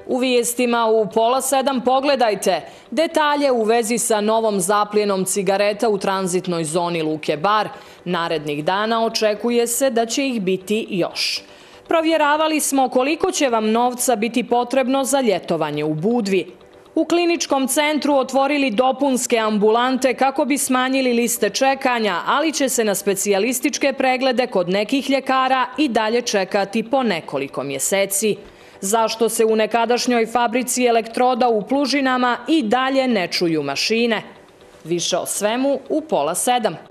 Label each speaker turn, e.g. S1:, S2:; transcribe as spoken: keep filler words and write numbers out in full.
S1: U vijestima u pola sedam pogledajte detalje u vezi sa novom zapljenom cigareta u tranzitnoj zoni Luke Bar. Narednih dana očekuje se da će ih biti još. Provjeravali smo koliko će vam novca biti potrebno za ljetovanje u Budvi. U kliničkom centru otvorili dopunske ambulante kako bi smanjili liste čekanja, ali će se na specijalističke preglede kod nekih ljekara i dalje čekati po nekoliko mjeseci. Zašto se u nekadašnjoj fabrici elektroda u Plužinama i dalje ne čuju mašine? Više o svemu u pola sedam.